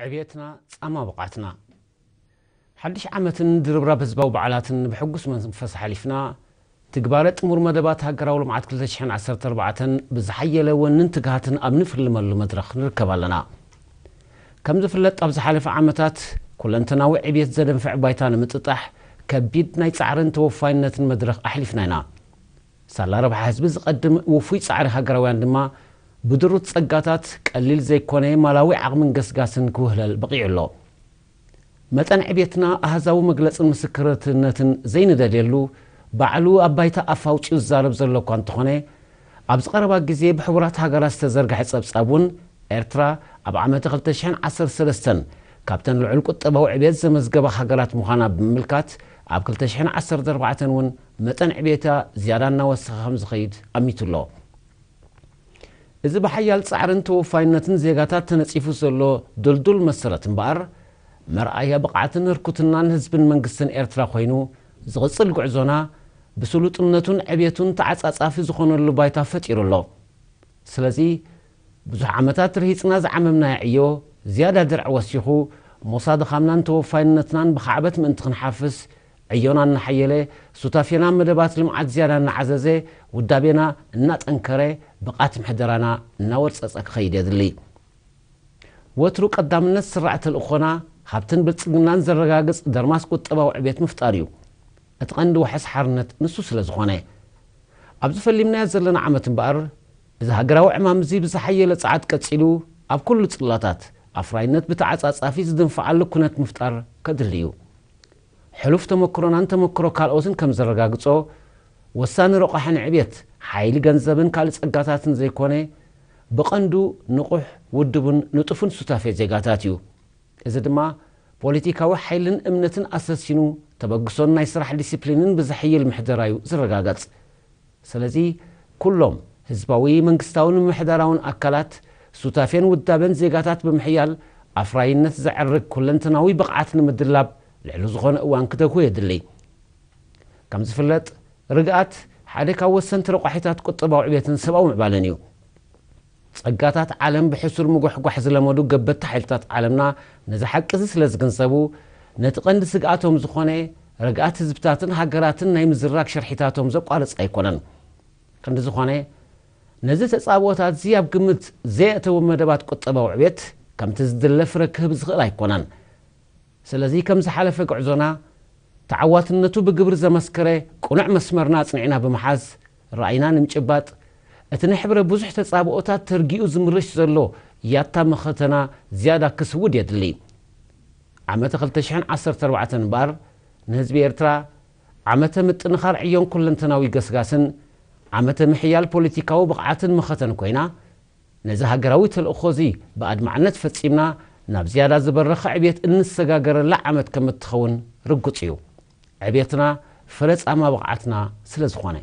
ዕብየትና ጻማ ብቕዓትና። ሓድሽ ዓመትን ድርብራብ ህዝባዊ በዓላትን ብሕጉስ መንፈስ ሓሊፍና፣ ትግባረ ጥሙር መደባት ሃገራዊ ልምዓት ክልተ ሽሕን ዓሰርተ ኣርባዕተን ብዝሓየለ ወንን ትግሃትን ኣብ ንፍልመሉ መድረኽ ንርከብ ኣለና። ከም ዝፍለጥ፣ ኣብ ዝሓለፈ ዓመታት ኩለንተናዊ ዕብየት ዘደንፍዕ ባይታ ንምጥጣሕ ከቢድ ናይ ጻዕርን ተወፋይነትን መድረኽ ኣሕሊፍና ኢና። ሳላ ረብሓ ህዝቢ ዝቐድም ውፉይ ጻዕሪ ሃገራውያን ድማ ብድሩት ጸጋታት ቀሊል ዘይኮነ ማላዊ ዓቕምን ገስጋስን ክውህለል በቒዑ ኣሎ። መጠን ዕብየትና ኣሃዛዊ መግለጽን ምስክርነትን ዘይንደልየሉ፣ ባዕሉ ኣብ ባይታ ኣፍ ኣውጺኡ ዝዛረብ ዘሎ እኳ እንተኾነ፣ ኣብዚ ቀረባ ግዜ ብሕቡራት ሃገራት ዝተዘርግሐ ጸብጻብ እውን፣ ኤርትራ ኣብ ዓመተ ክልተ ሽሕን ዓሰርተ ሰለስተን ካብተን ልዑል ቁጠባዊ ዕብየት ዘመዝገባ ሃገራት ምዃና ብምምልካት፣ ኣብ ክልተ ሽሕን ዓሰርተ ኣርባዕተን እውን መጠን ዕብየታ ዝያዳ እናወሰኸ ከም ዝኸይድ ኣሚቱ ኣሎ። እዚ ብሓያል ጻዕርን ተወፋይነትን ዜጋታት ተነጺፉ ዘሎ ድልዱል መሰረት እምበኣር፣ መርኣያ ብቕዓትን ህርኩትናን ህዝብን መንግስትን ኤርትራ ኮይኑ፣ ዝቕጽል ጉዕዞና ብስሉጥነቱን ዕብየቱን ተዓጻጻፊ ዝኾነሉ ባይታ ፈጢሩ ኣሎ። ስለዚ፣ ብዙሕ ዓመታት ርሂጽና ዝዓመምናዮ ዕዮ ዝያዳ ድርዒ ወሲኹ፣ ሞሳ ድኻምናን ተወፋይነትናን ብኻዕበት ምእንቲ ክንሓፍስ፣ ዕዮና እናሓየለ፣ ሱታፌና መደባት ልምዓት ዝያዳ እናዓዘዘ፣ ውዳቤና እናጠንከረ፣ ብቕዓት ምሕደራና እናወርጸጸ ክኸይድ የድሊ። ወትሩ ቀዳምነት ስራዕ ተልእኾና፣ ሃብትን ብልጽግናን ዘረጋግጽ ደርማስ ቁጠባዊ ዕብየት ምፍጣር እዩ። እቲ ቀንዲ ዋሕስ ሓርነት ንሱ ስለ ዝኾነ። ኣብዚ ፈሊምናዮ ዘለና ዓመት እምበኣር፣ እዚ ሃገራዊ ዕማም እዚ ብዝሓየለ ጸዓት ቀጺሉ፣ ኣብ ኩሉ ጽላታት ኣፍራይነት ብተዓጻጻፊ ዝድንፍዓሉ ኩነት ምፍጣር ከድሊ እዩ። ሕሉፍ ተመክሮናን ተመክሮ ካልኦትን ከም ዘረጋግጾ፣ ወሳኒ ረቋሒ ንዕብየት ሓይሊ ገንዘብን ካልእ ጸጋታትን ዘይኮነ፣ ብቐንዱ ንቑሕ፣ ውድቡን ንጡፍን ሱታፌ ዜጋታት እዩ። እዚ ድማ ፖለቲካዊ ሓይልን እምነትን ኣሰሲኑ፣ ተበግሶን ናይ ስራሕ ዲሲፕሊንን ብዘሕይል ምሕደራ እዩ ዝረጋገጽ። ስለዚ፣ ኩሎም ህዝባዊ መንግስታውን ምምሕዳራውን ኣካላት ሱታፌን ውዳበን ዜጋታት ብምሕያል፣ ኣፍራይነት ዘዕርግ ኩለንተናዊ ብቕዓት ንምድላብ ልዕሊ ዝኾነ እዋን ክተግሁ የድሊ። ከም ዝፍለጥ፣ ርግኣት ሓደ ካብ ወሰንቲ ረቋሒታት ቁጠባዊ ዕብየትን ሰብኣዊ ምዕባለን እዩ። ጸጋታት ዓለም ብሕሱር ምጉሕጓሕ ዝለመዱ ገበቲ ሓይልታት ዓለምና ነዚ ሓቂ እዚ ስለ ዝግንዘቡ፣ ነቲ ቀንዲ ስግኣቶም ዝኾነ ርግኣት ህዝብታትን ሃገራትን ናይ ምዝራግ ሽርሒታቶም ዘቋርጽ ኣይኮነን። ክንዲ ዝኾነ፣ ነዚ ተጻብኦታት እዚ ኣብ ግምት ዘየእተወ መደባት ቁጠባዊ ዕብየት ከምቲ ዝድለ ፍረ ክህብ ዝኽእል ኣይኮነን። ስለዚ ከም ዝሓለፈ ጉዕዞና ተዓዋትነቱ ብግብሪ ዘመስከረ ቅኑዕ መስመርና ኣጽኒዕና ብምሓዝ፣ ራእይና ንምጭባጥ፣ እቲ ንሕብረ ብዙሕ ተጻብኦታት ተርጊኡ ዝምርሽ ዘሎ ያታ መኸተና ዝያዳ ክስውድ የድሊ። ዓመተ ክልተ ሽሕን ዓሰርተ ኣርባዕተን እምበኣር ንህዝቢ ኤርትራ ዓመተ ምጥንኻር ዕዮን ኩለንተናዊ ገስጋስን፣ ዓመተ ምሕያል ፖለቲካዊ ብቕዓትን መኸተን ኮይና፣ ነዚ ሃገራዊ ተልእኾ እዚ ብኣድማዕነት ፈጺምና ናብ ዝያዳ ዝበረኸ ዕብየት እንሰጋገረላ ዓመት ከም እትኸውን ርጉጽ እዩ። ዕብየትና ፍረ ጻማ ብቕዓትና ስለ ዝኾነ።